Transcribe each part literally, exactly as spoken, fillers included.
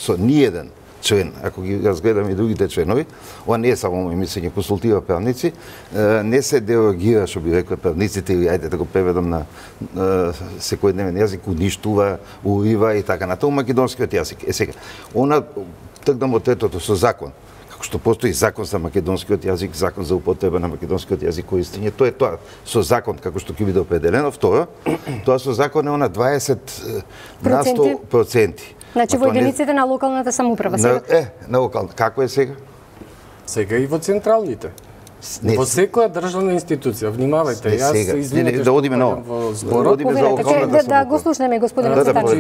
со ниеден член, ако ги разгледаме и другите членови, ова не е само мој мислење, консултира правници, не се дерогира, што би рекла правниците, или ајде да го преведам на секојдневен јазик, уништува, урива и така натаму македонскиот јазик. Е сега, она тргнам од третото со закон, како што постои закон за македонскиот јазик, закон за употреба на македонскиот јазик користење, тоа е тоа со закон како што ќе биде определено. Второ, тоа со закон е она дваесет на сто проценти. Значи во единиците на локалната самоуправа сега? Е, на локалната. Како е сега? Сега и во централните. Не, во секоја државна институција, внимавајте, јас се извинете да одиме на во зборот. Да, да го слушнеме господинот Цветанов.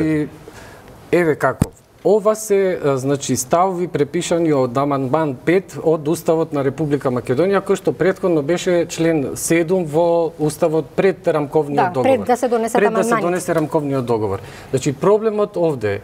Еве како. Ова се, значи, ставови препишани од амандман пет од Уставот на Република Македонија, кој што претходно беше член седум во Уставот пред рамковниот да, договор. Пред да се донесат пред амандманите. да се донесе рамковниот договор. Значи, проблемот овде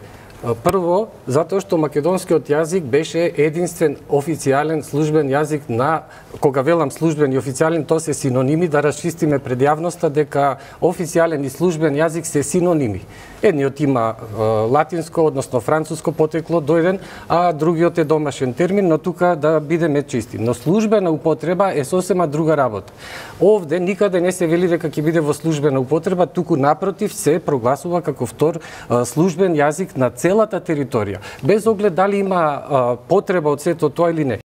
е прво, затоа што македонскиот јазик беше единствен официјален службен јазик на, кога велам службен и официјален, тоа се синоними, да расчистиме пред јавноста дека официјален и службен јазик се синоними. Едниот има е, латинско, односно француско потекло дојден, а другиот е домашен термин, но тука да бидеме чисти. Но службена употреба е сосема друга работа. Овде никаде не се вели дека ќе биде во службена употреба, туку напротив се прогласува како втор е, службен јазик на целата територија. Без оглед дали има е, потреба од сето тоа или не.